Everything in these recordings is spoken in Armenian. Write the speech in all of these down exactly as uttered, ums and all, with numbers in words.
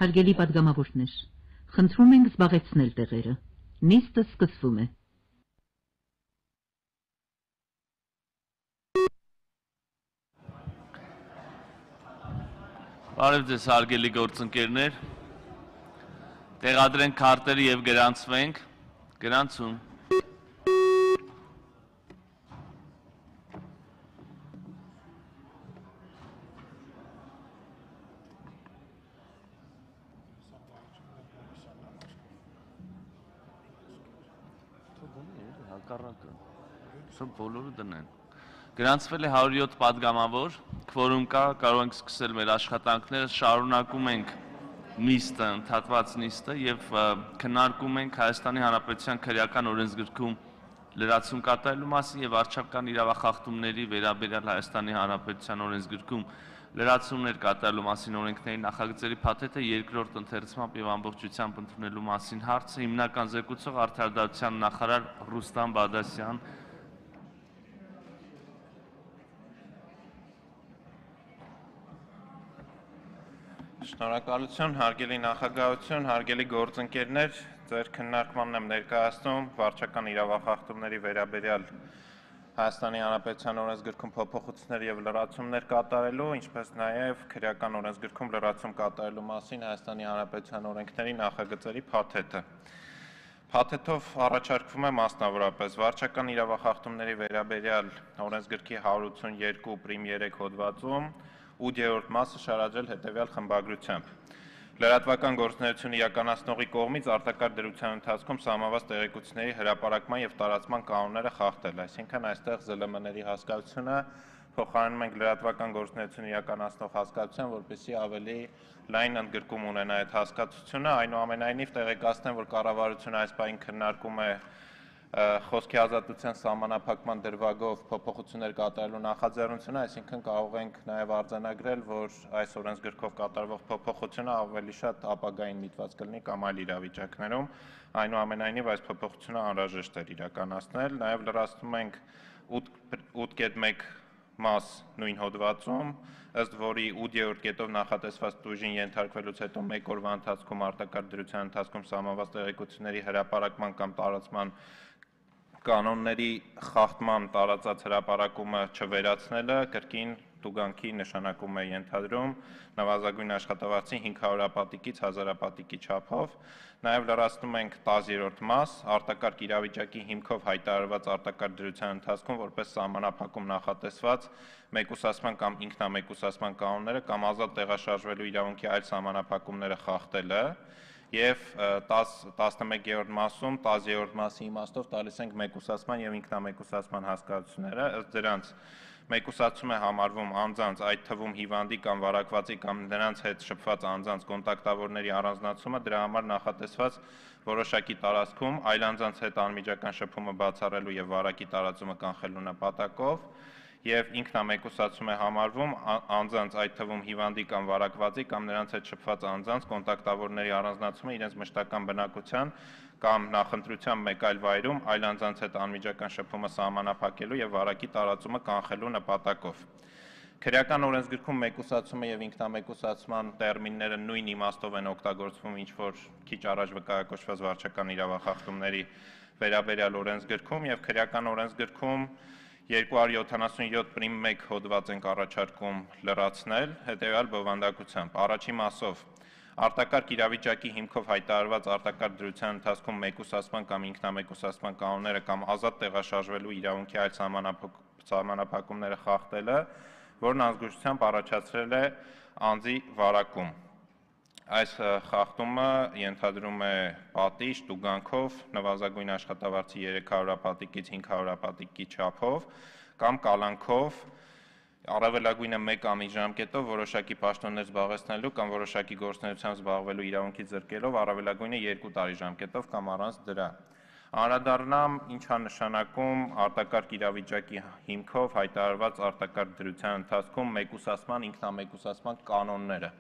Հարգելի պատգամավորներ, խնդրում ենք զբաղեցնել տեղերը։ Նիստը սկսվում է։ Բարև ձեզ հարգելի գործընկերներ, տեղադրենք քարտերը եւ գրանցվենք, գրանցում։ Բոլորը դնեն։ Գրանցվել է հարյուր յոթ պատգամավոր, քվորում կա, կարող ենք սկսել մեր աշխատանքները, շարունակում ենք նիստը, ընդհատված նիստը եւ քննարկում ենք Հայաստանի Հանրապետության քրեական օրենսգրքում լրացում կատարելու մասին եւ վարչական իրավախախտումների վերաբերյալ Հայաստանի Հանրապետության օրենսգրքում լրացումներ կատարելու մասին օրենքների նախագծերի փաթեթը երկրորդ ընթերցմամբ եւ ամբողջությամբ ընդունելու մասին հարցը հիմնական զեկուցող Արդարադատության նախարար Ռուստամ Բադասյան Շնորհակալություն, հարգելի նախագահություն, հարգելի գործընկերներ, ձեր քննարկմանն եմ ներկայացնում վարչական իրավախախտումների վերաբերյալ Հայաստանի Հանրապետության օրենսգրքում փոփոխություններ եւ լրացումներ կատարելու, ինչպես նաեւ քրեական օրենսգրքում լրացում կատարելու մասին Հայաստանի Հանրապետության օրենքների նախագծերի փաթեթը։ Փաթեթով առաջարկվում է մասնավորապես վարչական իրավախախտումների վերաբերյալ օրենսգրքի հարյուր ութսունյոթ պրիմ երեք հոդվածում ութերորդ մասը շարադրել հետևյալ խմբագրությամբ։ Լրատվական գործունեություն իրականացնողի կողմից արտակարգ դրության ընթացքում սահմանված տեղեկությունների հրապարակման եւ տարածման կանոնները խախտել, այսինքն այստեղ զլ էմ էների հասկացությունը փոխարինում ենք լրատվական գործունեություն իրականացնող հասկացության, որպեսզի ավելի լայն ընդգրկում ունենա այդ հասկացությունը, այնուամենայնիվ տեղեկացնեմ, որ կառավարությունը այս պահին քննարկում է խոսքի ազատության սահմանափակման դրվագով փոփոխություններ կատարելու նախաձեռնությունը, այսինքն կարող ենք նաև արձանագրել, որ այս օրենսգրքով կատարվող փոփոխությունը ավելի շատ ապագային միտված կլինի կամ այլ իրավիճակներում, այնուամենայնիվ այս փոփոխությունը անհրաժեշտ էր իրականացնել, նաև լրացնում ենք ութ մեկ մաս նույն հոդվածում, ըստ որի ութերորդ կետով նախատեսված տուժին ենթարկվելուց հետո մեկ օրվա ընթացքում արտակարգ դրության ընթացքում սահմանված տեղեկությունների հրապարակման կամ տարածման կանոնների խախտման տարածած հրապարակումը չվերացնելը կրկին տուգանքի նշանակում է ենթադրում նվազագույն աշխատավարձի հինգ հարյուրապատիկից հազարապատիկի չափով, նաև լրացնում ենք տասներորդ մաս արտակարգ իրավիճակի հիմքով հայտարարված արտակարգ դրության ընթացքում որպես սահմանափակում նախատեսված մեկուսացման կամ ինքնամեկուսացման կանոնները կամ ազատ տեղաշարժվելու իրավունքի այլ սահմանափակումները խախտելը եւ տասնմեկերորդ մասում տասներորդ մասի իմաստով տալիս ենք մեկուսացման եւ ինքնամեկուսացման հասկացությունները, ըստ դրանց մեկուսացում է համարվում անձանց, այդ թվում հիվանդի կամ վարակվածի կամ նրանց հետ շփված անձանց կոնտակտավորների առանձնացումը, դրա համար նախատեսված որոշակի տարածքում այլ անձանց հետ անմիջական շփումը բացառելու եւ վարակի տարածումը կանխելու նպատակով եւ ինքնամեկուսացում է համարվում անձանց, այդ թվում հիվանդի կամ վարակվածի կամ նրանց հետ շփված անձանց կոնտակտավորների առանձնացումը իրենց մշտական բնակության կամ նախընտրության մեկ այլ վայրում այլ անձանց հետ անմիջական շփումը սահմանափակելու եւ վարակի տարածումը կանխելու նպատակով։ Քրեական օրենսգրքում մեկուսացումը եւ ինքնամեկուսացման տերմինները նույն իմաստով են օգտագործվում, ինչ որ քիչ առաջ վկայակոչված վարչական իրավախախտումների վերաբերյալ օրենսգրքում եւ քրեական օրենսգրքում երկու հարյուր յոթանասունյոթ պրիմ մեկ հոդված ենք առաջարկում լրացնել հետեւյալ բովանդակությամբ։ Առաջին մասով արտակարգ իրավիճակի հիմքով հայտարարված արտակարգ դրության ընթացքում մեկուսացման կամ ինքնամեկուսացման կանոնները կամ ազատ տեղաշարժվելու իրավունքի այլ սահմանափակումները խախտելը, որն ազգուշությամբ առաջացրել է անձի վարակում։ Այս խախտումը ենթադրում է պատիժ տուգանքով նվազագույն աշխատավարձի երեք հարյուրապատիկից հինգ հարյուրապատիկի չափով կամ կալանքով առավելագույնը մեկ ամիս ժամկետով որոշակի պաշտոններ զբաղեցնելու կամ որոշակի գործունեությամբ զբաղվելու իրավունքի զրկելով առավելագույնը երկու տարի ժամկետով կամ առանց դրա։ Անդրադառնամ ինչ է նշանակում արտակարգ իրավիճակի հիմքով հայտարարված արտակարգ դրության ընթացքում մեկուսացման, ինքնամեկուսացման կանոնները։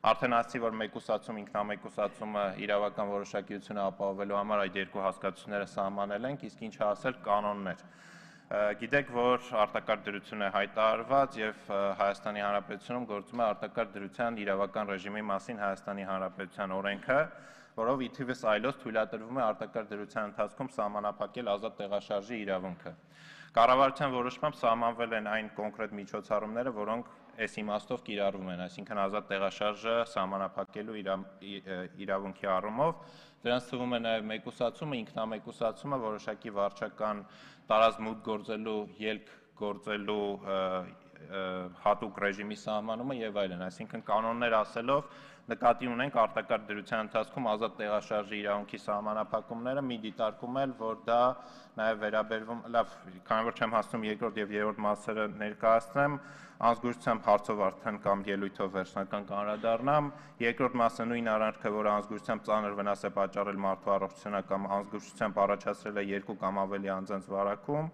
Արդեն ասացի, որ մեկուսացում, ինքնամեկուսացումը իրավական որոշակիությունը ապահովելու համար այդ երկու հասկացությունները սահմանել ենք, իսկ ինչ է ասել կանոններ։ Գիտեք, որ արտակարգ դրություն է հայտարարված եւ Հայաստանի Հանրապետությունում գործում է արտակարգ դրության իրավական ռեժիմի մասին Հայաստանի Հանրապետության օրենքը, որով ի թիվս այլոց թույլատրվում է արտակարգ դրության ընթացքում սահմանափակել ազատ տեղաշարժի իրավունքը։ Կառավարության որոշմամբ սահմանվել են այն կոնկրետ միջոցառումները, որոնք այս իմաստով կիրառվում են, այսինքն ազատ տեղաշարժը սահմանափակելու իրավունքի առումով, դրանց թվում է նաև մեկուսացումը, ինքնամեկուսացումը, որոշակի վարչական տարածմուտք գործելու, ելք գործելու հատուկ ռեժիմի սահմանումը եւ այլն, այսինքն կանոններ ասելով նկատի ունենք արտակարգ դրության ընթացքում ազատ տեղաշարժի իրավունքի սահմանափակումները, մի դիտարկում էլ, որ դա նաև վերաբերվում, լավ, քանի որ չեմ հասնում երկրորդ եւ երրորդ մասերը ներկայացնեմ, անզգուշությամբ հարցով արդեն կամ ելույթով վերջնական կանրադառնամ, երկրորդ մասը նույն առարկը, որ անզգուշությամբ ծանր վնաս է պատճառել մարդու առողջությանը կամ անզգուշությամբ առաջացրել է երկու կամ ավելի անձանց վարակում,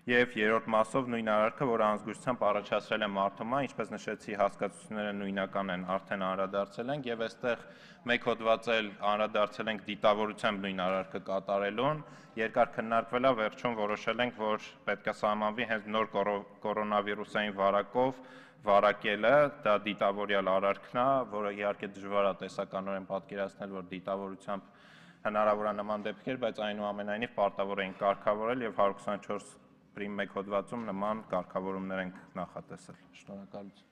եւ երրորդ մասով նույն արարքը, որ անզգուշությամբ առաջացրել է մարդուման, ինչպես նշեցի, հասկացությունները նույնական են, արդեն անդրադարձել ենք եւ այստեղ մեկ հոդված էլ անդրադարձել ենք դիտավորությամբ նույն արարքը կատարելուն, երկար քննարկվել է, վերջում որոշել ենք, որ պետք է սահմանվի հենց նոր կորոնավիրուսային վարակով վարակելը, դա դիտավորյալ արարքն է, որը իհարկե դժվար է տեսականորեն պատկերացնել, որ դիտավորությամբ հնարավոր է նման դեպքեր, բայց այնուամենայնիվ պարտավոր ենք կարգավորել եւ հարյուր քսանչորս պրիմ մեկ հոդվածում նման կարգավորումներ ենք նախատեսել։ Շնորհակալություն։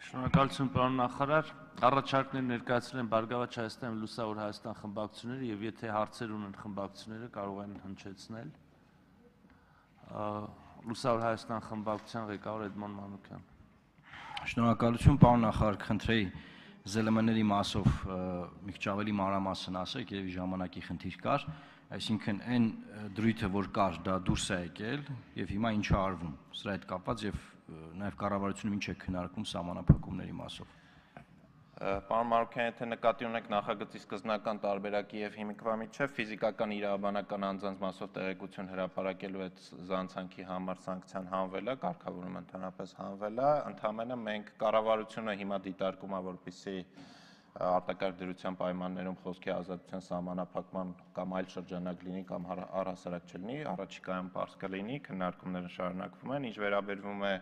Շնորհակալություն, պարոն նախարար։ Առաջարկներ ներկայացրել են Բարգավաճ Հայաստան եւ Լուսավոր Հայաստան խմբակցությունները եւ եթե հարցեր ունեն խմբակցությունները կարող են հնչեցնել։ Լուսավոր Հայաստան խմբակցության ղեկավար Էդմոն Մանուկյան։ Շնորհակալություն, պարոն նախարար, խնդրեի զելմների մասով մի քիչ ավելի մանրամասն ասեք, երևի ժամանակի խնդիր կար, այսինքն այն դրույթը, որ կար, դա դուրս է եկել եւ հիմա ինչ է արվում սրա հետ կապված եւ նաեւ կառավարությունում ինչ է քննարկում սահմանափակումների մասով։ Պարոն Մանուկյան, եթե նկատի ունեք նախագծի սկզբնական տարբերակի եւ հիմիկվա միջեւ ֆիզիկական իրավաբանական անձանց մասով տեղեկություն հրապարակելու այդ զանցանքի համար սանկցիան հանվել է, կարգավորումը ընդհանրապես հանվել է, ընդհանրապես մենք կառավարությունը հիմա դիտարկում է, որպեսզի արտակարգ դրության պայմաններում խոսքի ազատության սահմանափակման կամ այլ շրջանակ լինի կամ առհասարակ չլինի, առաջիկայում պարզ կլինի, քննարկումները շարունակվում են, ինչ վերաբերվում է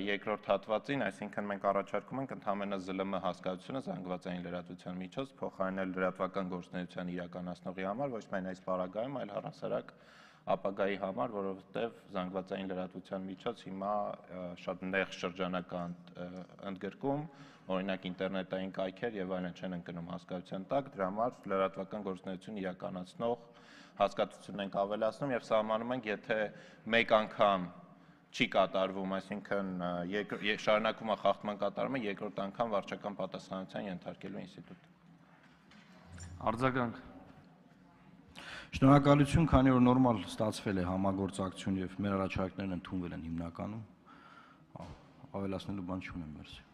երկրորդ հատվածին, այսինքն մենք առաջարկում ենք ընդհանրապես զլ մ հասկացությունը զանգվածային լրատվության միջոց փոխարինել լրատվական գործունեության իրականացնողի համար, ոչ միայն այս պարագայում, այլ առհասարակ ապագայի համար, որովհետև զանգվածային լրատվության միջոց հիմա շատ նեղ շրջանակ ընդգրկում, օրինակ ինտերնետային կայքեր եւ այլն չեն ընկնում հասկացության տակ, դրա համար լրատվական գործունեություն իրականացնող հասկացությունն ենք ավելացնում եւ սահմանում ենք, եթե մեկ անգամ չի կատարվում, այսինքն շարունակվում է խախտման կատարումը, երկրորդ անգամ վարչական պատասխանատվության ենթարկելու ինստիտուտ։ Արձագանք։ Շնորհակալություն, քանի որ նորմալ ստացվել է համագործակցություն եւ մեր առաջարկներն ընդունվել են հիմնականում, ավելացնելու բան չունեմ, մերսի։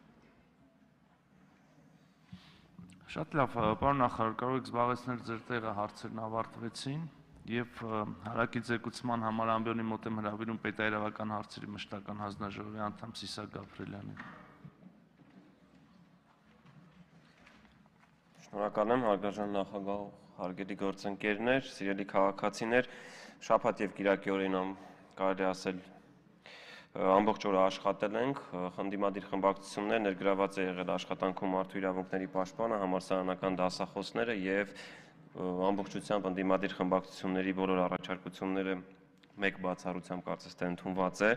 Շատ լավ, պարոն նախարար, կարող եք զբաղեցնել ձեր տեղը, հարցերն ավարտվեցին եւ հարակի ձեկուցման համար ամբիոնի մոտ եմ հրավիրում պետաիրավական հարցերի մշտական հանձնաժողովի անդամ Սիսակ Գաբրելյանին։ Շնորհակալ եմ, հարգարժան նախագահ, հարգելի գործընկերներ, սիրելի քաղաքացիներ, շաբաթ եւ կիրակի օրին կարելի ասել ամբողջ օրը աշխատել ենք, խնդիմադիր խմբակցություններ ներգրաված է եղել աշխատանքում մարդու իրավունքների պաշտպանը, համալսարանական դասախոսները եւ ամբողջությամբ ընդդիմադիր խմբակցությունների բոլոր առաջարկությունները մեկ բացառությամբ կարծես թե ընդունված է,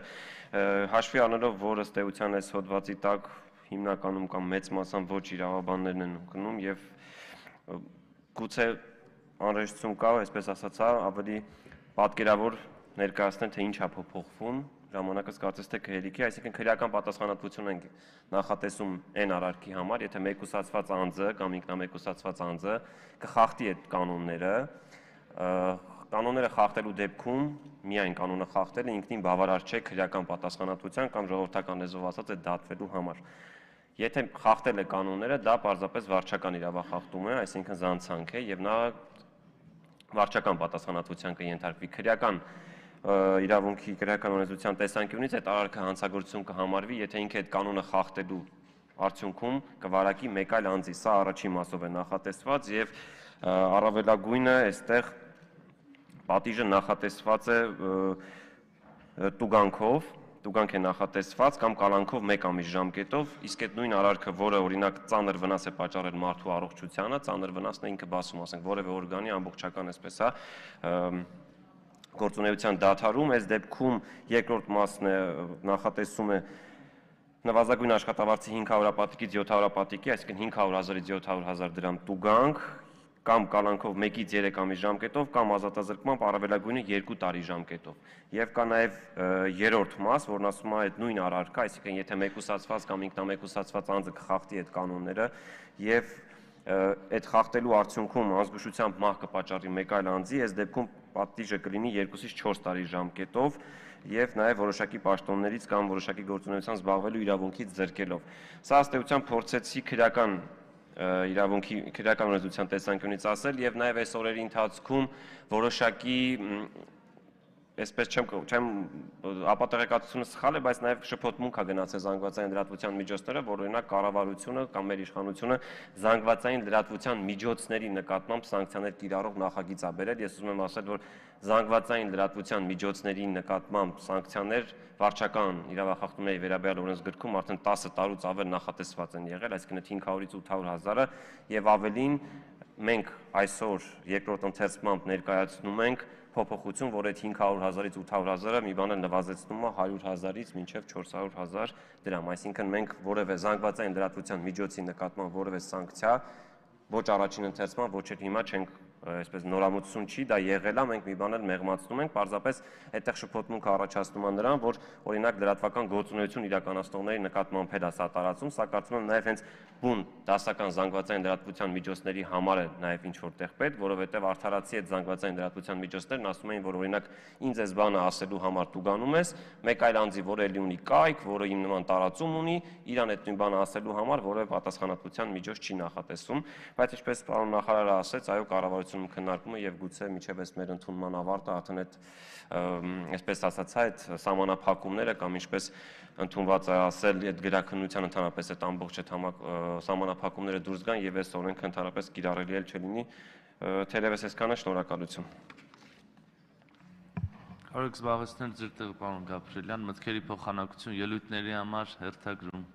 հաշվի առնելով, որ ըստ էության այս հոդվածի տակ հիմնականում կամ մեծ մասամբ ոչ իրավաբաններն են ընկնում եւ գուցե անհրաժեշտություն կա, այսպես ասած, ավելի պատկերավոր ներկայացնել, թե ինչ է փոփոխվում, ժամանակս կարծես թե քրեդիկի, այսինքն քրեական պատասխանատվություն ենք նախատեսում այն արարքի համար, եթե մեկուսացված անձը կամ ինքնամեկուսացված անձը կխախտի այդ կանոնները, կանոնները խախտելու դեպքում միայն կանոնը խախտելը ինքնին բավարար չէ քրեական պատասխանատվության կամ ժողովրդական լեզվով ասած այդ դատվելու համար։ Եթե խախտել է կանոնները, դա պարզապես վարչական իրավախախտում է, այսինքն զանցանք է եւ նա վարչական պատասխանատվության կենթարկվի քրեական իրավունքի քրեական օրենսդրության տեսանկյունից այդ արարքը հանցագործություն կհամարվի, եթե ինքը այդ կանոնը խախտելու արդյունքում կվարակի մեկ այլ անձի, սա առաջին մասով է նախատեսված եւ առավելագույնը այստեղ պատիժը նախատեսված է տուգանքով, տուգանք է նախատեսված կամ կալանքով մեկ ամիս ժամկետով, իսկ այդ նույն արարքը, որը օրինակ ծանր վնաս է պատճառել մարդու առողջությանը, ծանր վնասն է ինքը բացում, ասենք որևէ օրգանի ամբողջական այսպես է գործունեության դադարում, այս դեպքում երկրորդ մասն է նախատեսում է նվազագույն աշխատավարձի հինգ հարյուր հապատիկից յոթ հարյուր հապատիկի, այսինքն հինգ հարյուր հազարից յոթ հարյուր հազար դրամ տուգանք, կամ կալանքով մեկից երեք ամիս ժամկետով, կամ ազատազրկմամբ առավելագույնը երկու տարի ժամկետով։ Եվ կա նաև երրորդ մաս, որն ասում է այդ նույն արարքը, այսինքն եթե մեկուսացված կամ ինքնամեկուսացված անձը կխախտի այդ կանոնները եւ այդ խախտելու արդյունքում անզգուշությամբ մահ կպատճառի մեկ այլ անձի, այս դեպքում պատիժը կլինի երկուսից չորս տարի ժամկետով եւ նաեւ որոշակի պաշտոններից կամ որոշակի գործունեությամբ զբաղվելու իրավունքից զրկելով։ Սա ըստ էության փորձեցի քրեական իրավունքի քրեական օրենսդրության տեսանկյունից ասել եւ նաեւ այս օրերի ընթացքում որոշակի այսպես չեմ չեմ ապատեղեկատվությունը սխալ է, բայց նաև շփոթմունք է գնացել զանգվածային լրատվության միջոցները, որ օրինակ կառավարությունը կամ մեր իշխանությունը զանգվածային լրատվության միջոցների նկատմամբ սանկցիաներ կիրառող նախագիծ է բերել։ Ես ուզում եմ ասել, որ զանգվածային լրատվության միջոցների նկատմամբ սանկցիաներ վարչական իրավախախտումների վերաբերյալ օրենսգրքում արդեն տասը տարուց ավել նախատեսված են եղել, այսինքն հինգ հարյուրից ութ հարյուր հազարը եւ ավելին մենք այսօր երկրորդ ընթերցմամբ ներկայացնում ենք փոփոխություն, որ այդ հինգ հարյուր հազարից ութ հարյուր հազարը մի բանը նվազեցնում է հարյուր հազարից մինչև չորս հարյուր հազար դրամ, այսինքն մենք որևէ զանգվածային լրատվության միջոցի նկատմամբ որևէ սանկցիա ոչ առաջին ընթերցման, ոչ էլ հիմա չենք այսպես նորամուծություն չի, դա եղել է, մենք մի բան էլ մեղմացնում ենք, պարզապես այդտեղ շփոթմունքը առաջացնում է նրան, որ օրինակ լրատվական գործունեություն իրականացնողների նկատմամբ էլ է սա տարածում, սա կարծում եմ նաև հենց բուն դասական զանգվածային լրատվության միջոցների համար է նաև ինչ որտեղ պետք, որովհետև արդարացի այդ զանգվածային լրատվության միջոցներն ասում էին, որ օրինակ ինձ այս բանը ասելու համար տուգանում ես, մեկ այլ անձի, որը էլի ունի կայք, որը իմ նման տարածում ունի, իրան այդ նույն բանը ասելու համար որևէ պատասխանատվության միջոց չի նախատեսում, բայց ինչպես պարոն նախարարը ասեց, այո, կառավարությունը քննարկում է եւ գուցե միջև այս մեր ընդունման ավարտը արդեն այդ այսպես ասած այդ սահմանափակումները կամ ինչպես ընդունված է ասել այդ գրաքննության ընդհանրապես այդ ամբողջ այդ սահմանափակումները դուրս գան եւ այս օրենքը ընդհանրապես կիրառելի էլ չլինի թերևս այսքանը շնորհակալություն Կարող եք զբաղեցնել ձեր տեղը պարոն Գաբրիելյան մտքերի փոխանակություն ելույթների համար հերթագրում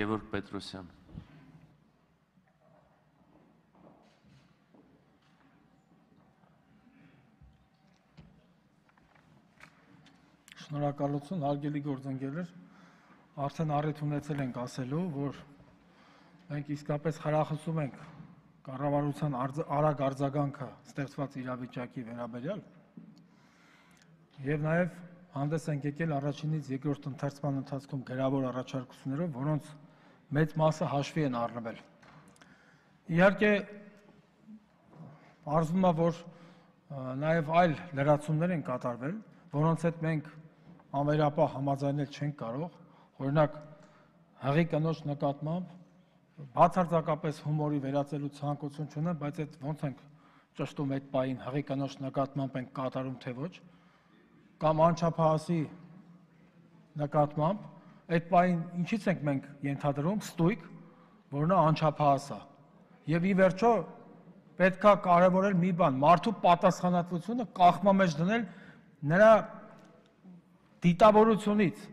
Գևորգ Պետրոսյան Շնորհակալություն, հարգելի գործընկերներ, արդեն առիթ ունեցել ենք ասելու, որ մենք իսկապես խրախուսում ենք կառավարության արագ արձագանքը ստեղծված իրավիճակի վերաբերյալ եւ նաեւ հանդես ենք եկել առաջինից երկրորդ ընթերցման ընթացքում գրավոր առաջարկություններով, որոնց մեծ մասը հաշվի են առնվել։ Իհարկե, արզվում է, որ նաև այլ լրացումներ են կատարվել, որոնց հետ մենք անվերապահ համաձայնել չենք կարող, օրինակ հղի կնոջ նկատմամբ բացարձակապես հումորի վերածելու ցանկություն չունեմ, բայց այդ ոնց ենք ճշտում այդ պահին հղի կնոջ նկատմամբ ենք կատարում թե ոչ, կամ անչափահասի նկատմամբ այդ պահին ինչից ենք մենք ենթադրում ստույգ, որ նա անչափահաս է։ Եվ ի վերջո պետք է կարևորել մի բան, մարդու պատասխանատվությունը կախման մեջ դնել նրա դիտավորությունից,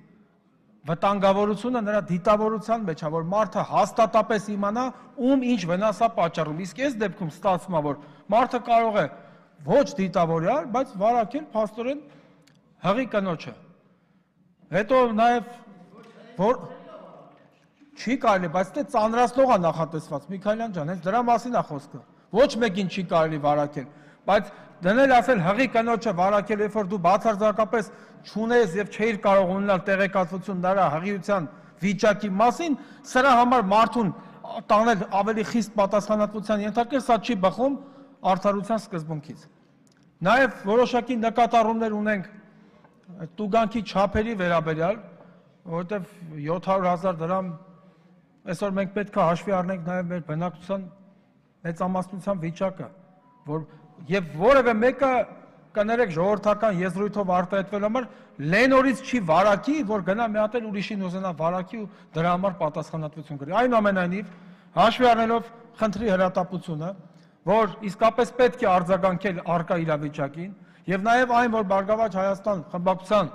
վտանգավորությունը նրա դիտավորության մեջ է, որ մարդը հաստատապես իմանա ում ինչ վնաս է պատճառում։ Իսկ այս դեպքում ստացվում է, որ մարդը կարող է ոչ դիտավորյալ, բայց վարակել փաստորեն հղի կնոջը։ Հետո նաև որ չի կարելի, բայց դե ծանրացնող է նախատեսված Միքայելյան ջան, հենց դրա մասին է խոսքը։ Ոչ մեկին չի կարելի վարակել, բայց դնել ասել հղի կնոջը վարակել, երբ որ դու բացարձակապես չունես եւ չէիր կարող ունենալ տեղեկատվություն նրա հղիության վիճակի մասին, սրա համար մարդուն տանել ավելի խիստ պատասխանատվության ենթարկել, սա չի բխում արդարության սկզբունքից։ Նաեւ որոշակի նկատառումներ ունենք տուգանքի չափերի վերաբերյալ, որովհետև յոթ հարյուր հազար դրամ այսօր մենք պետք է հաշվի առնենք նաև մեր բնակչության մեծամասնության վիճակը, որ եւ որևէ մեկը կներեք ժողովրդական եզրույթով արտահայտվել համար լենորից չի վարակի, որ գնա մի հատ էլ ուրիշին ուզենա վարակի ու դրա համար պատասխանատվություն կրի։ Այնուամենայնիվ, հաշվի առնելով խնդրի հրատապությունը, որ իսկապես պետք է արձագանքել առկա իրավիճակին, եւ նաեւ այն, որ Բարգավաճ Հայաստան խմբակցության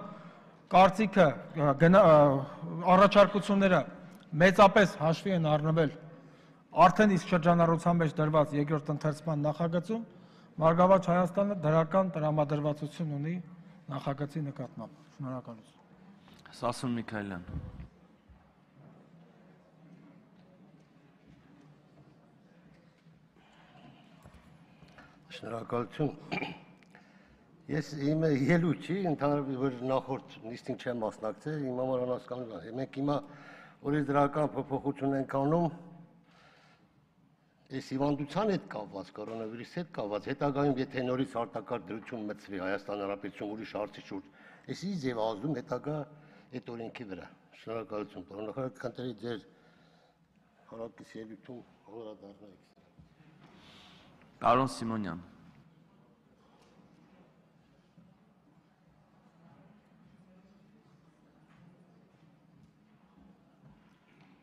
կարծիքը առաջարկությունները մեծապես հաշվի են առնվել արդեն իսկ շրջանառության մեջ դրված երկրորդ ընթերցման նախագծում, Բարգավաճ Հայաստանը դրական տրամադրվածություն ունի նախագծի նկատմամբ։ Շնորհակալություն։ Սասուն Միքայելյան։ Շնորհակալություն։ Ես իմ ելույթ չի, ընդհանրապես որ նախորդ նիստին չեմ մասնակցել, իմ համար անհասկանալի է։ Մենք հիմա օրենսդրական փոփոխություն ենք անում այս հիվանդության հետ կապված, կորոնավիրուսի հետ կապված, հետագայում եթե նորից արտակարգ դրություն մտցվի Հայաստան Հանրապետություն ուրիշ հարցի շուրջ, այս ի ձև ազդում հետագա այդ օրենքի վրա։ Շնորհակալություն, պարոն նախարար, կընտրեի ձեր հարակից ելույթում հորադառնայիք։ Պարոն Սիմոնյան։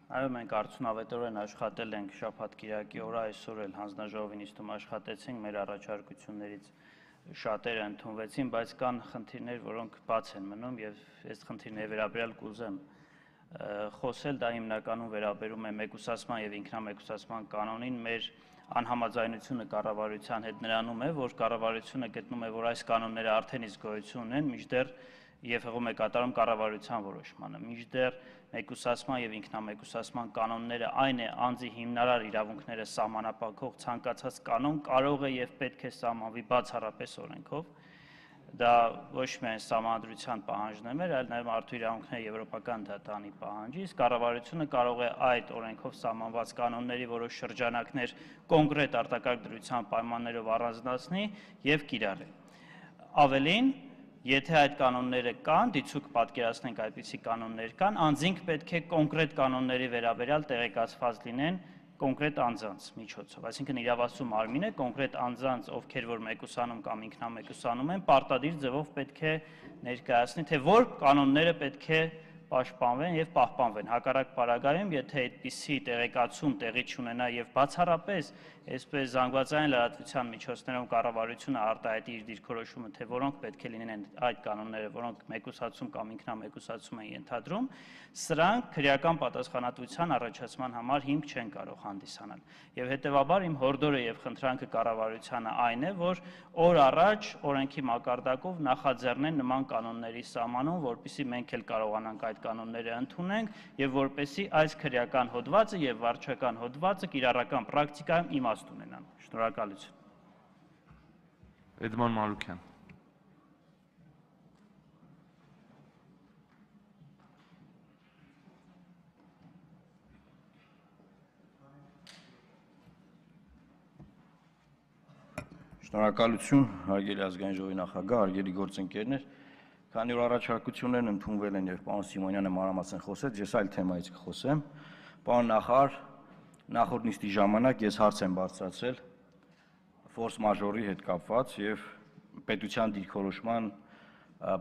Այո, մենք արդյունավետորեն աշխատել ենք շաբաթ-կիրակի օրը, այսօր էլ հանձնաժողովի նիստում աշխատեցինք, մեր առաջարկություններից շատերը ընդունվեցին, բայց կան խնդիրներ, որոնք բաց են մնում եւ այս խնդիրների վերաբերյալ կուզեմ խոսել, դա հիմնականում վերաբերում է մեկուսացման եւ ինքնամեկուսացման կանոնին, մեր անհամաձայնությունը կառավարության հետ նրանում է, որ կառավարությունը գտնում է, որ այս կանոնները արդեն իսկ գոյություն ունեն, մինչդեռ եւ հղում է կատարում կառավարության որոշմանը, մինչդեռ մեկուսացման եւ ինքնամեկուսացման կանոնները այն է անձի հիմնարար իրավունքները սահմանափակող ցանկացած կանոն կարող է եւ պետք է սահմանվի բացառապես օրենքով, դա ոչ միայն սահմանադրության պահանջն է մեր, այլ նաեւ մարդու իրավունքների եվրոպական դատարանի պահանջի, իսկ կառավարությունը կարող է այդ օրենքով սահմանված կանոնների որոշ շրջանակներ կոնկրետ արտակարգ դրության պայմաններով առանձնացնի եւ կիրառի։ Ավելին, եթե այդ կանոնները կան, դիցուկ պատկերացնենք այդպիսի կանոններ կան, անձինք պետք է կոնկրետ կանոնների վերաբերյալ տեղեկացված լինեն կոնկրետ անձանց միջոցով, այսինքն իրավասու մարմինը կոնկրետ անձանց, ովքեր որ մեկուսանում կամ ինքնամեկուսանում են, պարտադիր ձևով պետք է ներկայացնի, թե որ կանոնները պետք է պաշտպանվեն եւ պահպանվեն։ Հակառակ պարագայում, եթե այդպիսի տեղեկացում տեղի չունենա եւ բացառապես այսպես զանգվածային լրատվության միջոցներով կառավարությունը արտահայտի իր դիրքորոշումը, թե որոնք պետք է լինեն այդ կանոնները, որոնք մեկուսացում կամ ինքնամեկուսացում են ենթադրում, սրանք քրեական պատասխանատվության առաջացման համար հիմք չեն կարող հանդիսանալ։ Եվ հետեւաբար իմ հորդորը եւ խնդրանքը կառավարությանը այն է, որ օր առաջ օրենքի մակարդակով նախաձեռնեն նման կանոնների սահմանում, որպեսզի մենք էլ կարողանանք այդ կանոնները ընդունենք եւ որպեսզի այս քրեական հոդվածը եւ վարչական հոդվածը կիրառական պրակտիկայում իմաստ ունենան։ Շնորհակալություն։ Էդման Մարուկյան։ Շնորհակալություն, հարգելի ազգային ժողովի նախագահ, հարգելի գործընկերներ, քանի որ առաջարկություններն ընդունվել են եւ պարոն Սիմոնյանը մանրամասն խոսեց, ես այլ թեմայից կխոսեմ։ Պարոն նախարար, նախորդ նիստի ժամանակ ես հարց եմ բարձրացրել ֆորս մաժորի հետ կապված եւ պետության դիրքորոշման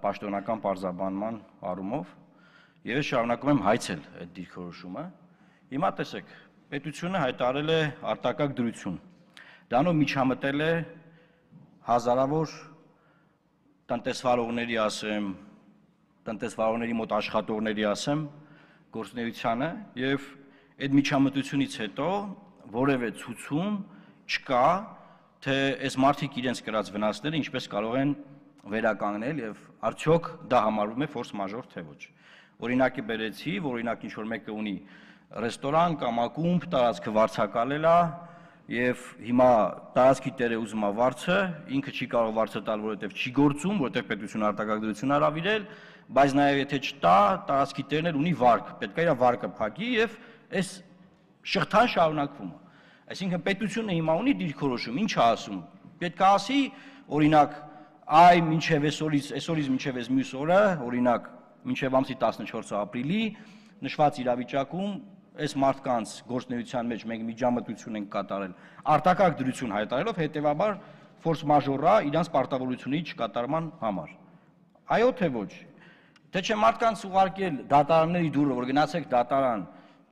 պաշտոնական պարզաբանման առումով եւ ես շարունակում եմ հայցել այդ դիրքորոշումը։ Հիմա տեսեք, պետությունը հայտարարել է արտակարգ դրություն։ Դրանով միջամտել է հազարավոր տնտեսվարողների ասեմ, տնտեսվարողների մոտ աշխատողների ասեմ, գործունեությանը եւ այդ միջամտությունից հետո որևէ ցուցում չկա, թե այս մարդիկ իրենց կրած վնասները ինչպես կարող են վերականգնել եւ արդյոք դա համարվում է ֆորս մաժոր թե ոչ։ Օրինակի բերեցի, որ օրինակ ինչ որ մեկը ունի ռեստորան կամ ակումբ, տարածքը վարձակալել է եւ հիմա տարածքի տերը ուզում է վարձը, ինքը չի կարող վարձը տալ, որովհետեւ չի գործում, որովհետեւ պետությունը արտակարգ դրություն հրավիրել, բայց նաեւ եթե չտա, տարածքի տերն էլ ունի վարկ, պետք է իր վարկը փակի եւ այս շղթան շարունակվում է։ Այսինքն պետությունը հիմա ունի դիրքորոշում, ինչ է ասում։ Պետք է ասի, օրինակ, այ մինչև այսօրից, այսօրից մինչև այս մյուս օրը, օրինակ, մինչև ամսի տասնչորսը ապրիլի, նշված իրավիճակում այս մարդկանց գործունեության մեջ մենք միջամտություն ենք կատարել արտակարգ դրություն հայտարարելով, հետեւաբար ֆորս մաժորա իրանց պարտավորությունների չկատարման համար։ Այո թե ոչ։ Թե չէ մարդկանց ուղարկել դատարանների դուրը, որ գնացեք դատարան,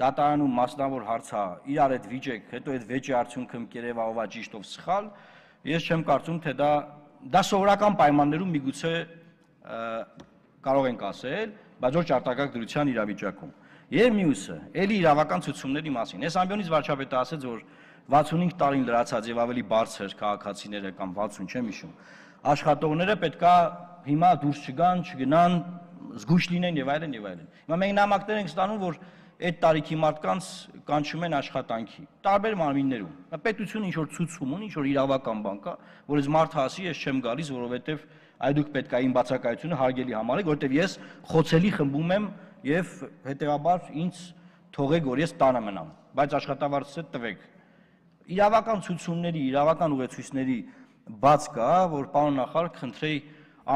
դատարանում մասնավոր հարցա, իրար այդ վիճեք, հետո այդ վեճի արդյունքը կերևա ովա ճիշտ ով սխալ, ես չեմ կարծում, թե դա դա սովորական պայմաններում միգուցե կարող ենք ասել, բայց ոչ արտակարգ դրության իրավիճակում։ Եվ մյուսը, ելի իրավական ցուցումների մասին։ Այս ամբիոնից վարչապետը ասեց, որ վաթսունհինգ տարին լրացած եւ ավելի բարձր քաղաքացիները կամ վաթսուն չեմ հիշում, աշխատողները պետքա հիմա դուրս չգան, չգնան, զգույշ լինեն եւ այլն եւ այլն։ Հիմա մենք նամակներ ենք ստանում, որ այդ տարիքի մարդկանց կանչում են աշխատանքի տարբեր մարմիններում։ Պետությունը ինչ որ ցուցում ունի, ինչ որ իրավական բան կա, որ այս մարդը ասի, ես չեմ գալիս, որովհետեւ այ դուք պետք է իմ բացակայությունը հարգելի համարեք, որովհետեւ ես խոցելի խմբում եմ եւ հետեւաբար ինձ թողեք, որ ես տանը մնամ, բայց աշխատավարձը տվեք։ Իրավական ցուցումների, իրավական ուղեցույցների բաց կա, որ պարոն նախարար կխնդրեի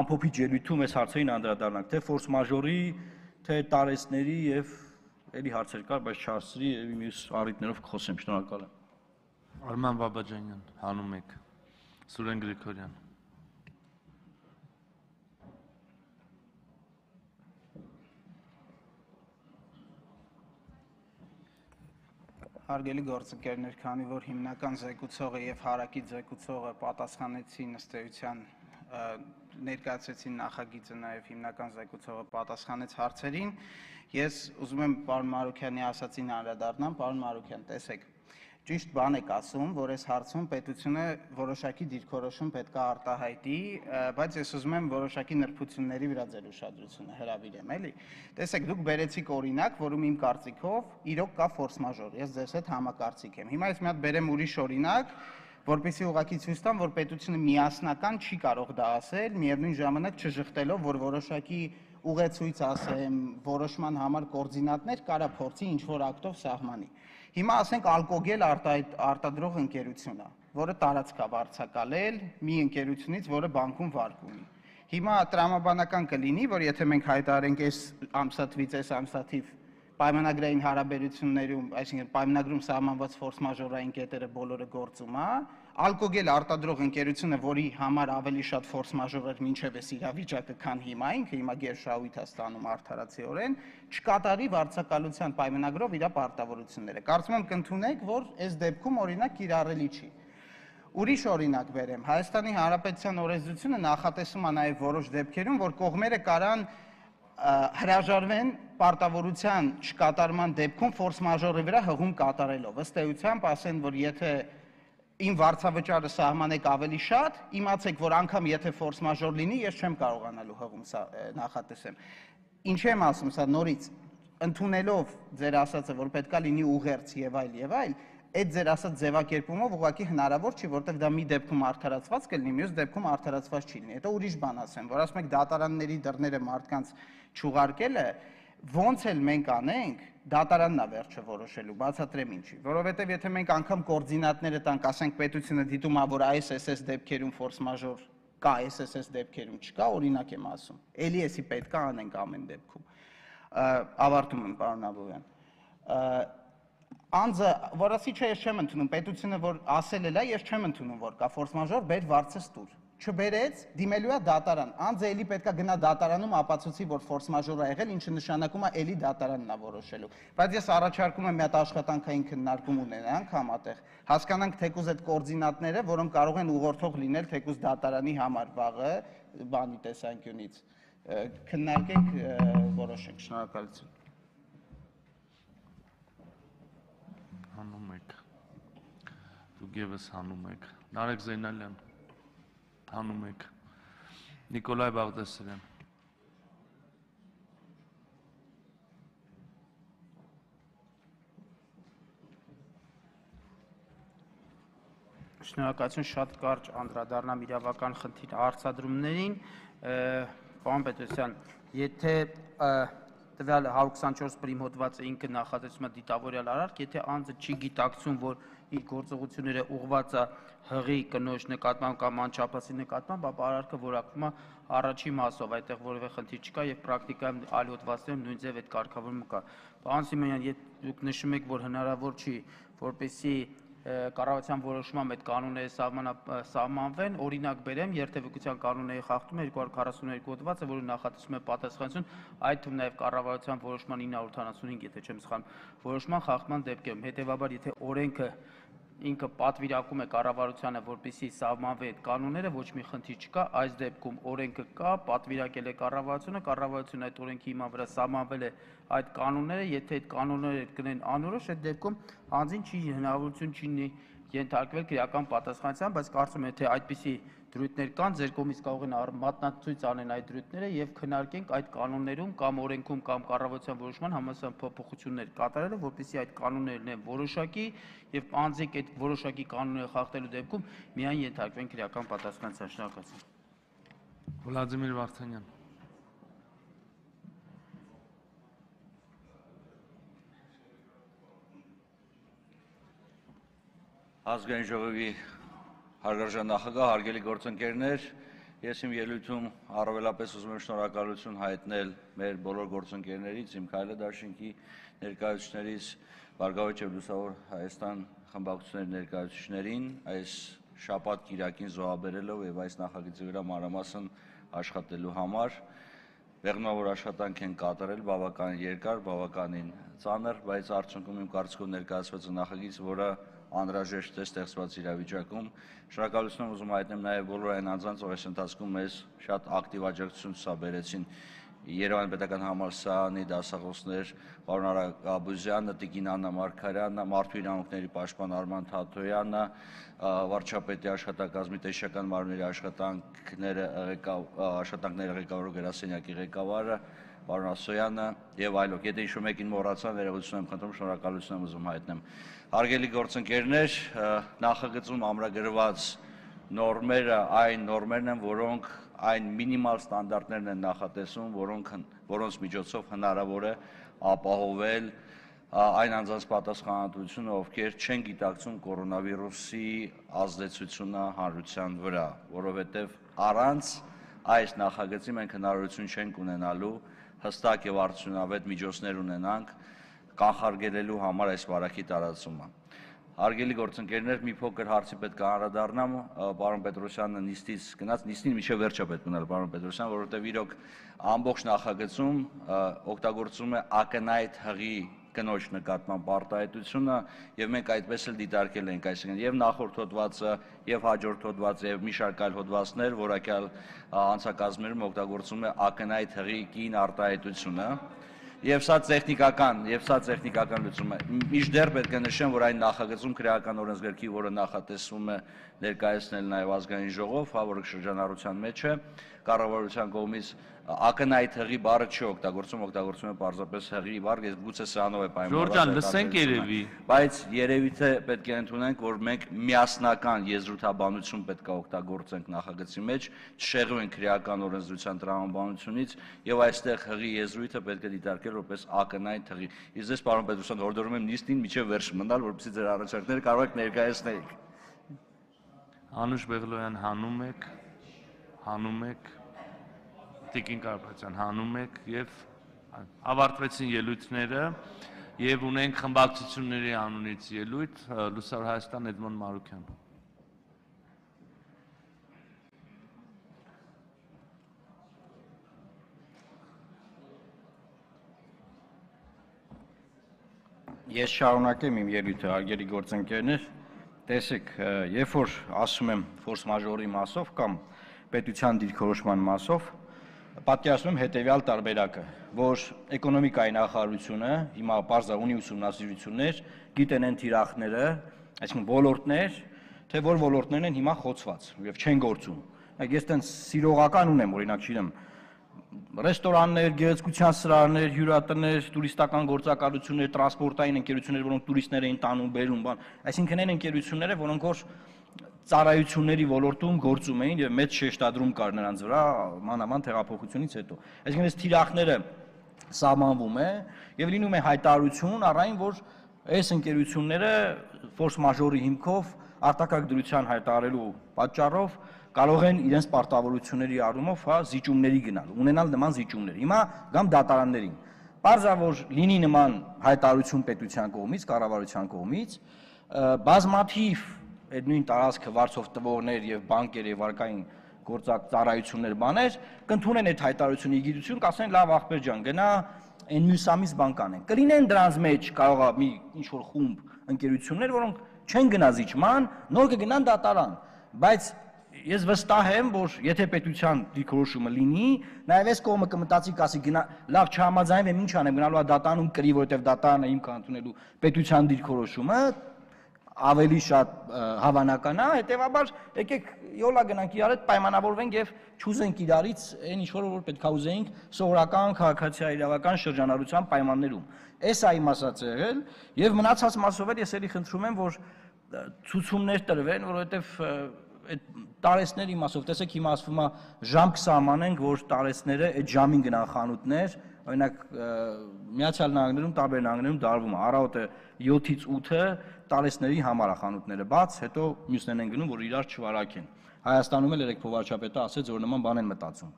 ամփոփիչ ելույթում այս հարցերին անդրադառնանք, թե ֆորս մաժորի, թե տարեցների եւ էլի հարցեր կար, բայց չհասցրի եւ մյուս առիթներով կխոսեմ, շնորհակալ եմ։ Արման Բաբաջանյան, հանում եք։ Սուրեն Գրիգորյան։ Հարգելի գործընկերներ, քանի որ հիմնական զեկուցողը եւ հարակից զեկուցողը պատասխանեցին ըստ էության ներկայացրեցին նախագիծը, նաև հիմնական զեկուցողը պատասխանեց հարցերին, ես ուզում եմ պարոն Մարուքյանի ասացին անդրադառնամ, պարոն Մարուքյան, տեսեք, ճիշտ բան եք ասում, որ այս հարցում պետությունը որոշակի դիրքորոշում պետք է արտահայտի, բայց ես ուզում եմ որոշակի նրբությունների վրա ձեր ուշադրությունը հրավիրեմ, էլի։ Տեսեք, դուք բերեցիք օրինակ, որում իմ կարծիքով իրոք կա ֆորս մաժոր, ես ձեզ հետ համակարծիք եմ։ Հիմա ես մի հատ բերեմ ուրիշ օրինակ, որպեսզի ուղղակի ցույց տամ, որ պետությունը միասնական չի կարող դա ասել, միևնույն ժամանակ չժխտելով, որ որոշակի ուղեցույց ասեմ, որոշման համար կոորդինատներ կարա փորձի ինչ-որ ակտով սահմանի։ Հիմա ասենք ալկոգել արտադրող ընկերությունն է, որը տարածք է վարձակալել մի ընկերությունից, որը բանկում վարկ ունի։ Հիմա տրամաբանական կլինի, որ եթե մենք հայտարարենք այս ամսաթվից այս ամսաթիվ պայմանագրային հարաբերություններում, այսինքն պայմանագրում սահմանված ֆորս մաժորային կետերը բոլորը գործում է, ալկոգել արտադրող ընկերությունը, որի համար ավելի շատ ֆորս մաժոր էր մինչև այս իրավիճակը, քան հիմա, ինքը հիմա գերշահույթ է ստանում արդարացիորեն, չկատարի վարձակալության պայմանագրով իր պարտավորությունները։ Կարծում եմ կընդունեք, որ այս դեպքում օրինակ կիրառելի չի։ Ուրիշ օրինակ բերեմ, Հայաստանի Հանրապետության օրենսդրությունը նախատեսում է նաև որոշ դեպքերում, որ կողմերը կարան հրաժարվեն պարտավորության չկատարման դեպքում ֆորս մաժորի վրա հղում կատարելով։ Ըստ էությամբ ասեն, որ եթե իմ վարձավճարը սահմանեք ավելի շատ, իմացեք, որ անգամ եթե ֆորս մաժոր լինի, ես չեմ կարողանալու հղում նախատեսեմ։ Ինչ եմ ասում, սա նորից ընդունելով ձեր ասածը, որ պետքա լինի ուղերձ եւ այլ եւ այլ, այդ ձեր ասած ձևակերպումով ուղղակի հնարավոր չի, որտեղ դա մի դեպքում արդարացված կլինի, մյուս դեպքում արդարացված չի լինի։ Հետո ուրիշ բան ասեմ, որ ասում եք դատարանների դռները մարդկանց չուղարկելը, ոնց էլ մենք անենք, դատարանն է վերջը որոշելու, բացատրեմ ինչի, որովհետև եթե մենք անգամ կոորդինատները տանք, ասենք պետությունը դիտում է, որ այս էս էս դեպքերում ֆորս մաժոր կա, այս էս էս դեպքերում չկա, օրինակ եմ ասում, էլի էսի պետք է անենք ամեն դեպքում։ Ավարտում եմ, պարոն Աբովյան։ Անձը, որ ասի չէ, ես չեմ ընդունում, պետությունը որ ասել է, ես չեմ ընդունում, որ կա ֆորս մաժոր, բեր վարձը ստուր։ Չբերեց, դիմելու է դատարան։ Անձը էլի պետքա գնա դատարանում ապացուցի, որ ֆորս մաժոր է եղել, ինչը նշանակում է էլի դատարանն է որոշելու։ Բայց ես առաջարկում եմ մի հատ աշխատանքային քննարկում ունենանք համատեղ, հասկանանք թեկուզ այդ կոորդինատները, որոնք կարող են ուղղորդող լինել թեկուզ դատարանի համար վաղը, բանի տեսանկյունից։ Քննարկենք, որոշենք, շնորհակալություն։ Հանում եք, դուք եւս հանում եք, Նարեկ Զեյնալյան, հանում եք, Նիկոլայ Բաղդասարյան։ Շնորհակալություն, շատ կարճ անդրադառնամ իրավական խնդիր հարցադրումներին, պարոն Պետրոսյան, եթե տվյալ հարյուր քսանչորս պրիմ հոդվածը ինքը նախատեսում է դիտավորյալ արարք, եթե անձը չի գիտակցում, որ իր գործողությունները ուղղված է հղի կնոջ նկատմամբ կամ անչափասի նկատմամբ, ապա արարքը որակվում է առաջի մասով, այդտեղ որևէ խնդիր չկա եւ պրակտիկայում այլ հոդվածներում նույն ձև այդ կարգավորումը կա։ Պարոն Սիմոնյան, եթե դուք նշում եք, որ հնարավոր չի, որպեսզի կառավարության որոշմամբ այդ կանոնները սահմանվեն, օրինակ բերեմ, երթևեկության կանոնների խախտումը երկու հարյուր քառասունուերկու հոդվածը, որը նախատեսում է պատասխանատվություն, այդ թվում նաև կառավարության որոշման ինը հարյուր ութանասունհինգ, եթե չեմ սխալվում, որոշման խախտման դեպքերում, հետևաբար եթե օրենքը ինքը պատվիրակում է կառավարությանը, որպեսզի սահմանվի այդ կանոնները, ոչ մի խնդիր չկա, այս դեպքում օրենքը կա, պատվիրակել է կառավարությունը, կառավարությունը այդ օրենքի հիման վրա սահմանվել է այդ կանոնները, եթե այդ կանոնները կլինեն անորոշ, այդ դեպքում անձին չի հնարավորություն չի ունի ենթարկվել քրեական պատասխանատվության, բայց կարծում եմ, թե այդպիսի դրույթներ կան, ձեր կողմից կարող են մատնացույց անեն այդ դրույթները եւ քննարկենք այդ կանոններում կամ օրենքում կամ կառավարության որոշման համապատասխան փոփոխություններ կատարելը, որպեսզի այդ կանոններն են որոշակի եւ անձիկ այդ որոշակի կանոնները խախտելու դեպքում միայն ենթարկվեն քրեական պատասխանատվության։ Շնորհակալություն։ Վլադիմիր Վարդանյան։ Ազգային ժողովի հարգարժան նախագահ, հարգելի գործընկերներ, ես իմ ելույթում առավելապես ուզում եմ շնորհակալություն հայտնել մեր բոլոր գործընկերներից, իմ Քայլե դաշինքի ներկայացուցիչներից, Բարգավաճ եւ Լուսավոր Հայաստան խմբակցությունների ներկայացուցիչներին, այս շաբաթ կիրակին զոհաբերելով եւ այս նախագծի վրա մանրամասն աշխատելու համար, մեղմավոր աշխատանք են կատարել բավականին երկար, բավականին ծանր, բայց արդյունքում իմ կարծիքով ներկայացված նախագիծ, որը անհրաժեշտ է ստեղծված իրավիճակում։ Շնորհակալություն ուզում հայտնեմ նաև բոլոր այն անձանց, ովքեր այս ընթացքում մեզ շատ ակտիվ աջակցություն ցուցաբերեցին։ Երևան պետական համալսարանի դասախոսներ պարոն Արագ Աբուզյանը, Տիկին Աննա Մարգարյանը, Մարդու իրավունքների պաշտպան Արման Թաթոյանը, վարչապետի աշխատակազմի տեսչական մարմինների աշխատանքները աշխատանքների ղեկավարող գրասենյակի ղեկավարը պարոն Ասոյանը եւ այլոք։ Եթե ինչ-որ մեկին մոռացա, ներողություն եմ խնդրում, շնորհակալություն եմ ուզում հայտնեմ։ Հարգելի գործընկերներ, նախագծում ամրագրված նորմերը այն նորմերն են, որոնք այն մինիմալ ստանդարտներն են նախատեսում, որոնք որոնց միջոցով հնարավոր է ապահովել այն անձանց պատասխանատվությունը, ովքեր չեն գիտակցում կորոնավիրուսի ազդեցությունը հանրության վրա, որովհետև առանց այս նախագծի մենք հնարավորություն չենք ունենալու հստակ եւ արդյունավետ միջոցներ ունենանք կանխարգելելու համար այս վարակի տարածումը։ Հարգելի գործընկերներ, մի փոքր հարցի պետք է անդրադառնամ, պարոն Պետրոսյանը նիստից գնաց, նիստին մինչև վերջը պետք մնալ պարոն Պետրոսյան, որովհետև իրոք ամբողջ նախագծում օգտագործում է ակնհայտ հղի կնոջ նկատմամբ արտահայտությունը եւ մենք այդպես էլ դիտարկել ենք, այսինքն եւ նախորդ հոդվածը եւ հաջորդ հոդվածը եւ մի շարք այլ հոդվածներ, որակյալ անցակազմերում օգտագործում է ակնհայտ հղի կին արտահայտությունը եւ սա տեխնիկական եւ սա տեխնիկական լուծում է։ Մինչդեռ պետք է նշեմ, որ այն նախագծում քրեական օրենսգրքի, որը նախատեսվում է ներկայացնել նաեւ ազգային ժողով, հա, որը շրջանառության մեջ է, կառավարության կողմից ակնհայտ հղի բառը չի օգտագործում, օգտագործում է պարզապես հղի բառ, ես գուցե սրանով է պայմանավորված։ Ժորժան, լսենք երևի։ Բայց երևի թե պետք է ընդունենք, որ մենք միասնական եզրութաբանություն պետք է օգտագործենք նախագծի մեջ, չշեղվենք քրեական օրենսդրության տրամաբանությունից եւ այստեղ հղի եզրույթը պետք է դիտարկել որպես ակնհայտ հղի։ Իսկ ես պարոն Պետրոսյան հորդորում եմ նիստին միջև վերջ մնալ, որպեսզի ձեր առաջարկները կարող եք ներկայացնեիք։ Անուշ Բեղլոյան, հանում եք, հանում եք, Տիկին Կարապետյան, հանում եք եւ ավարտվեցին ելույթները եւ ունենք խմբակցությունների անունից ելույթ, Լուսավոր Հայաստան Էդմոն Մարուկյան։ Ես շարունակեմ իմ ելույթը, հարգելի գործընկերներ, տեսեք, երբ որ ասում եմ ֆորս մաժորի մասով կամ պետության դիրքորոշման մասով, պատկերացնում եմ հետևյալ տարբերակը, որ էկոնոմիկայի նախարարությունը հիմա պարզա ունի ուսումնասիրություններ, գիտեն են թիրախները, այսինքն ոլորտներ, թե որ ոլորտներն են հիմա խոցված եւ չեն գործում։ Ես տենց սիրողական ունեմ, օրինակ չգիտեմ, ռեստորաններ, գեղեցկության սրահներ, հյուրատներ, տուրիստական գործակալություններ, տրանսպորտային ընկերություններ, որոնք տուրիստներ էին տանում, բերում, բան, այսինքն այն ընկերությունները, որոնք որ ծառայությունների ոլորտում գործում էին եւ մեծ շեշտադրում կար նրանց վրա մանավանդ հեղափոխությունից հետո։ Այսինքն այս թիրախները սահմանվում է եւ լինում է հայտարարություն առայն, որ այս ընկերությունները ֆորս մաժորի հիմքով արտակարգ դրության հայտարարելու պատճառով կարող են իրենց պարտավորությունների առումով, հա, զիջումների գնալ, ունենալ նման զիջումներ։ Հիմա գամ դատարաններին։ Պարզա որ լինի նման հայտարարություն պետության կողմից, կառավարության կողմից, բազմաթիվ այդ նույն տարածքը վարձով տվողներ եւ բանկեր եւ վարկային գործակ ծառայություններ բաներ կընդունեն այդ հայտարարությունը իգիտություն, կասեն լավ ախպեր ջան, գնա այն մյուս ամիս բան կանեն։ Կլինեն դրանց մեջ կարող է մի ինչ որ խումբ ընկերություններ, որոնք չեն գնա զիջման, նոր կգնան դատարան, բայց ես վստահ եմ, որ եթե պետության դիրքորոշումը լինի, նաև այս կողմը կմտածի կասի գնա լավ չհամաձայնվեմ, ինչ անեմ, գնալու է դատարանում կրի, որովհետև դատարանը իմ կանտունելու պետության դիրքորոշումը ավելի շատ հավանական է, հետևաբար եկեք յոլա գնանք իրար հետ պայմանավորվենք եւ չուզենք իրարից այն ինչ որ պետք է ուզեինք սովորական քաղաքացիական իրավական շրջանառության պայմաններում։ Էս է իմ ասած եղել եւ մնացած մասով էլ ես էլի խնդրում եմ, որ ցուցումներ տրվեն, որովհետեւ այդ տարեսների մասով, տեսեք հիմա ասվում է ժամ կսահմանենք, որ տարեսները այդ ժամին գնան խանութներ, օրինակ Միացյալ Նահանգներում, տարբեր նահանգներում դարվում է առավոտը յոթից ութը տարեսների համար է խանութները բաց, հետո մյուսներն են գնում, որ իրար չվարակեն։ Հայաստանում էլ երեք փոխվարչապետը ասեց, որ նման բան են մտածում։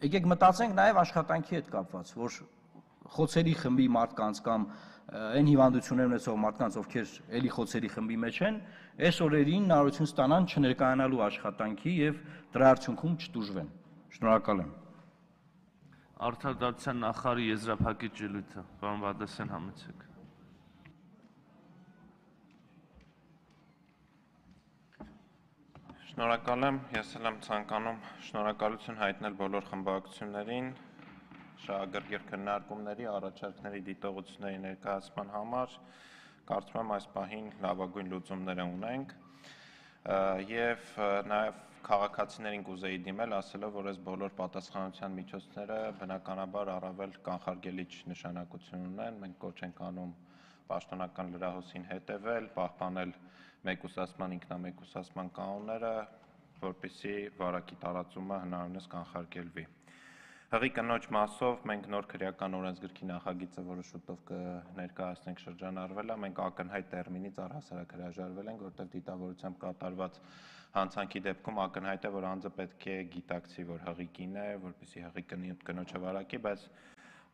Եկեք մտածենք նաև աշխատանքի հետ կապված, որ խոցերի խմբի մարդկանց կամ այն հիվանդություններ ունեցող մարդկանց, ովքեր էլի խոցերի խմբի մեջ են, այս օրերին հնարավորություն ստանան չներկայանալու աշխատանքի եւ դրա արդյունքում չտուժվեն։ Շնորհակալ եմ։ Արդարադատության նախարարի եզրափակիչ ելույթը, պարոն Բադասյան, համեցեք։ Շնորհակալ եմ, ես էլ եմ ցանկանում շնորհակալություն հայտնել բոլոր խմբակցություններին շահագրգիռ քննարկումների, առաջարկների, դիտողությունների ներկայացման համար, կարծում եմ այս պահին լավագույն լուծումները ունենք եւ նաեւ քաղաքացիներին կուզեի դիմել, ասելով, որ այս բոլոր պատասխանատվության միջոցները բնականաբար առավել կանխարգելիչ նշանակություն ունեն, մենք կոչ ենք անում պաշտոնական լրահոսին հետևել, պահպանել մեկուսացման, ինքնամեկուսացման կանոնները, որպեսզի վարակի տարածումը հնարավորինս կանխարգելվի։ Հղի կնոջ մասով մենք նոր քրեական օրենսգրքի նախագիծը, որը շուտով կներկայացնենք, շրջանառվել է, մենք ակնհայտ տերմինից առհասարակ հրաժարվել ենք, որտեղ դիտավորությամբ կատարված հանցանքի դեպքում ակնհայտ է, որ անձը պետք է գիտակցի, որ հղի կին է, որպեսզի հղի կնոջը վարակի, բայց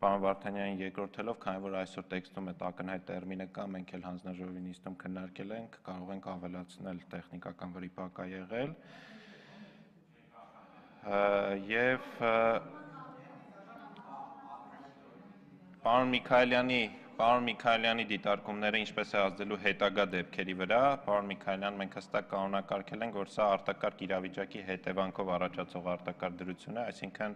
պարոն Վարդանյանին երկրորդելով, քանի որ այսօր տեքստում այդ ակնհայտ տերմինը կա, մենք էլ հանձնաժողովի նիստում քննարկել ենք, կարող ենք ավելացնել տեխնիկական վրիպակ է եղել եւ Պարոն Միքայելյանի, պարոն Միքայելյանի դիտարկումները ինչպես է ազդելու հետագա դեպքերի վրա, պարոն Միքայելյան, մենք հստակ կանոնակարգել ենք, որ սա արտակարգ իրավիճակի հետևանքով առաջացող արտակարգ դրություն է, այսինքն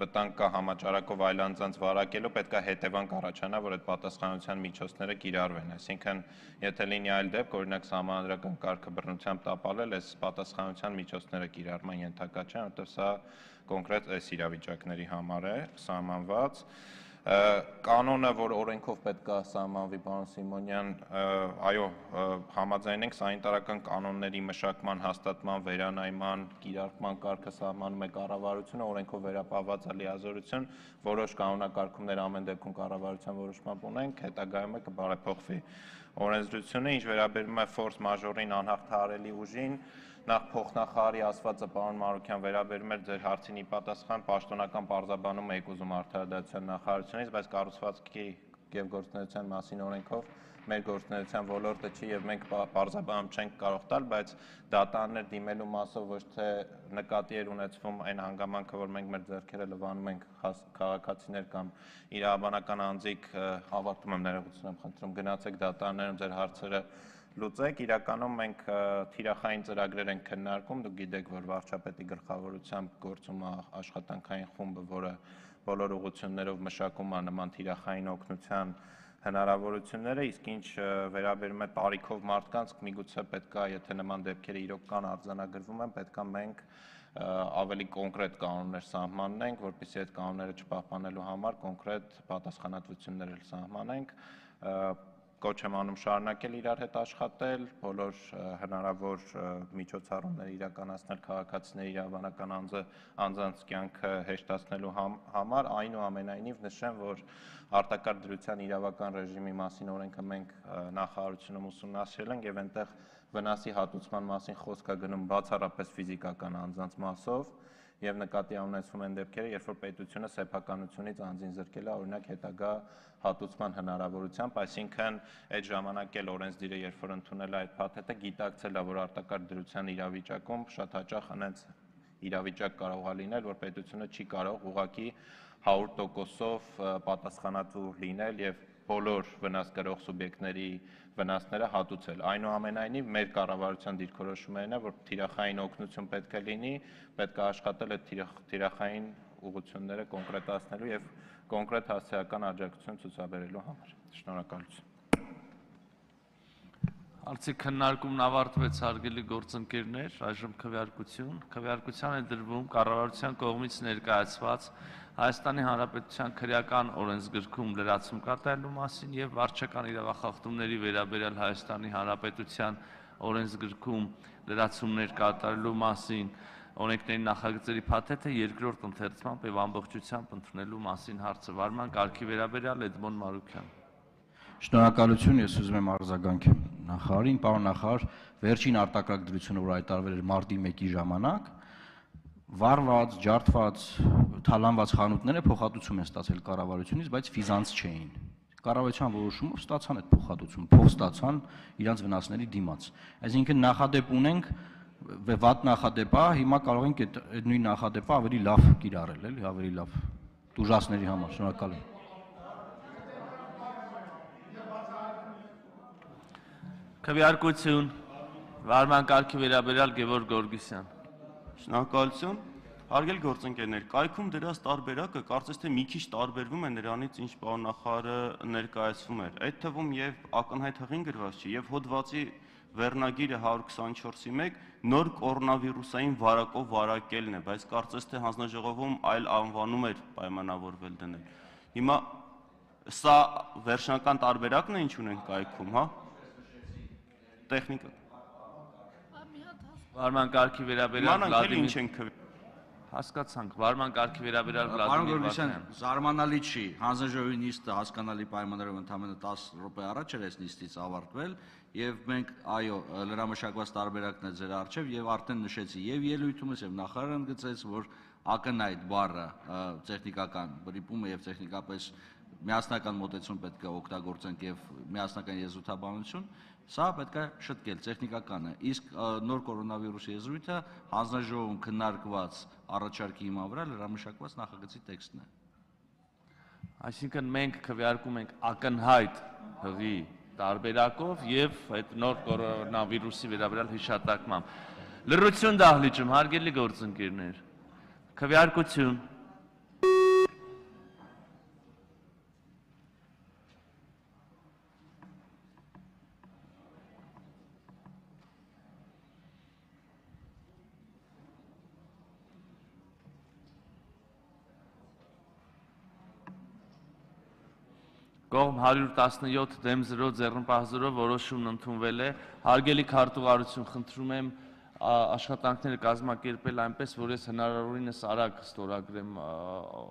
վտանգ կա համաճարակով այլ անձանց վարակելու, պետք է հետևանք առաջանա, որ այդ պատասխանատվության միջոցները կիրառվեն, այսինքն եթե լինի այլ դեպք, օրինակ սահմանադրական կարգը բռնությամբ տապալել, այս պատասխանատվության միջոցները կիրառման ենթակա չեն, որտեղ սա կոնկրետ այս իրավիճակների համար է սահմանված։ Կանոնը, որ օրենքով պետք է սահմանվի, պարոն Սիմոնյան, այո, համաձայն ենք, սանիտարական կանոնների մշակման, հաստատման, վերանայման, կիրառման կարգը սահմանում է կառավարությունը, օրենքով վերապահված է լիազորություն, որոշ կանոնակարգումներ ամեն դեպքում կառավարության որոշմամբ ունենք, հետագայում է կբարեփոխվի օրենսդրությունը, ինչ վերաբերում է ֆորս մաժորին, անհաղթահարելի ուժին, նախ փոխնախարարի ասվածը պարոն Մանուկյան վերաբերում էր ձեր հարցին ի պատասխան պաշտոնական պարզաբանում եք ուզում արդարադատության նախարարությունից, բայց կառուցվածքի եւ գործունեության մասին օրենքով մեր գործունեության ոլորտը չի եւ մենք պարզաբանում չենք կարող տալ, բայց դատարաններ դիմելու մասով ոչ թե նկատի էր ունեցվում այն հանգամանքը, որ մենք մեր ձեռքերը լվանում ենք քաղաքացիներ կամ իրավաբանական անձիկ, ավարտում եմ ներողություն եմ խնդրում, գնացեք դատարաններում ձեր հարցերը լուծեք, իրականում մենք թիրախային ծրագրեր ենք քննարկում, դուք գիտեք, որ վարչապետի գլխավորությամբ գործում է աշխատանքային խումբը, որը բոլոր ուղղություններով մշակում է նման թիրախային օգնության հնարավորությունները, իսկ ինչ վերաբերում է տարիքով մարդկանց, միգուցե պետք է, եթե նման դեպքերը իրոք կան արձանագրվում են, պետք է մենք ավելի կոնկրետ կանոններ սահմանենք, որպեսզի այդ կանոնները չպահպանելու համար կոնկրետ պատասխանատվություններ սահմանենք, կոչ եմ անում շարունակել իրար հետ աշխատել, բոլոր հնարավոր միջոցառումներ իրականացնել քաղաքացիների իրավաբանական անձը անձանց կյանքը հեշտացնելու համար, այնուամենայնիվ նշեմ, որ արտակարգ դրության իրավական ռեժիմի մասին օրենքը մենք նախարարությունում ուսումնասիրել ենք եւ այնտեղ վնասի հատուցման մասին խոսք է գնում բացառապես ֆիզիկական անձանց մասով եւ նկատի ունեցվում են դեպքերը, երբ որ պետությունը սեփականությունից անձին զրկել է, օրինակ հետագա հատուցման հնարավորությամբ, այսինքն այդ ժամանակ էլ օրենսդիրը, երբ որ ընդունել է այդ փաթեթը, գիտակցել է, որ արտակարգ դրության իրավիճակում շատ հաճախ հենց իրավիճակ կարող է լինել, որ պետությունը չի կարող ուղղակի հարյուր տոկոսով պատասխանատու լինել եւ բոլոր վնաս կրող սուբյեկտների վնասները հատուցել։ Այնուամենայնիվ մեր կառավարության դիրքորոշումներն է, որ թիրախային օգնություն պետք է լինի, պետք է աշխատել այդ թիրախային ուղղությունները կոնկրետացնելու եւ կոնկրետ հասարակական աջակցություն ցուցաբերելու համար։ Շնորհակալություն։ Հարցի քննարկումն ավարտվեց, հարգելի գործընկերներ, այժմ քվեարկություն։ Քվեարկության է դրվում կառավարության կողմից ներկայացված Հայաստանի Հանրապետության քրեական օրենսգրքում լրացում կատարելու մասին եւ վարչական իրավախախտումների վերաբերյալ Հայաստանի Հանրապետության օրենսգրքում լրացումներ կատարելու մասին օրենքների նախագծերի փաթեթը երկրորդ ընթերցմամբ եւ ամբողջությամբ ընդունելու մասին հարցը վարման կարգի վերաբերյալ Էդմոն Մարուկյան։ Շնորհակալություն, ես ուզում եմ արձագանքեմ նախարարին, պարոն նախարար, վերջին արտակարգ դրությունը, որ հայտարարվել էր մարտի մեկի ժամանակ, վառված, ջարդված, թալանված խանութները փոխհատուցում են ստացել կառավարությունից, բայց ֆիզանց չէին։ Կառավարության որոշումով ստացան այդ փոխհատուցումը, փող ստացան իրանց վնասների դիմաց։ Այսինքն նախադեպ ունենք, վատ նախադեպ է, հիմա կարող ենք այդ նույն նախադեպը ավելի լավ կիրառել, էլի, ավելի լավ տուժածների համար։ Շնորհակալ եմ։ Քվեարկություն, վարման կարգի վերաբերյալ Գևորգ Գորգիսյան։ Շնորհակալություն։ Հարգելի գործընկերներ, կայքում դրած տարբերակը կարծես թե մի քիչ տարբերվում է նրանից, ինչ պարոն նախարարը ներկայացվում էր։ Այդ թվում եւ ակնհայտ հղին գրված չի, եւ հոդվածի վերնագիրը հարյուր քսաներկու մեկ նոր կորոնավիրուսային վարակով վարակելն է, բայց կարծես թե հանձնաժողովում այլ անվանում էր պայմանավորվել դնել։ Հիմա սա վերջնական տարբերակն է, ինչ ունենք կայքում, հա։ Տեխնիկա։ Վարման կարգի վերաբերյալ Վլադիմիր հասկացանք, վարման կարգի վերաբերյալ Վլադիմիր Վարդանյան։ Զարմանալի չի, հանձնաժողովի նիստը հասկանալի պայմաններով ընդամենը տասը րոպե առաջ էր այս նիստից ավարտվել, եւ մենք այո, լրամշակված տարբերակն է ձեր առջև եւ արդեն նշեցի եւ ելույթումս եւ նախարարը ընդգծեց, որ ակնհայտ բառը տեխնիկական բրիպումը եւ տեխնիկապես միասնական մոտեցում պետք է օգտագործենք եւ միասնական եզրութաբանություն, սա պետք է շտկել, տեխնիկական է, իսկ նոր կորոնավիրուսի եզրույթը հանձնաժողովում քննարկված առաջարկի հիման վրա լրամշակված նախագծի տեքստն է։ Այսինքն մենք քվեարկում ենք ակնհայտ հղի տարբերակով եւ այդ նոր կորոնավիրուսի վերաբերյալ հիշատակմամբ։ Լրություն դահլիճում, հարգելի գործընկերներ, քվեարկություն։ Կողմ հարյուր տասնյոթ դեմ զրո ձեռնպահ զրո որոշումն ընդունվել է։ Հարգելի քարտուղարություն, խնդրում եմ աշխատանքները կազմակերպել այնպես, որ ես հնարավորինս արագ ստորագրեմ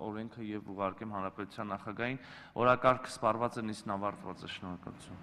օրենքը եւ ուղարկեմ Հանրապետության նախագահին։ Օրակարգը սպառված է, նիստն ավարտված է։ Շնորհակալություն։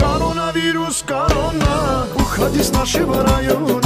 Կորոնավիրուս, կորոնա, ուխադիս նաշի վրայուն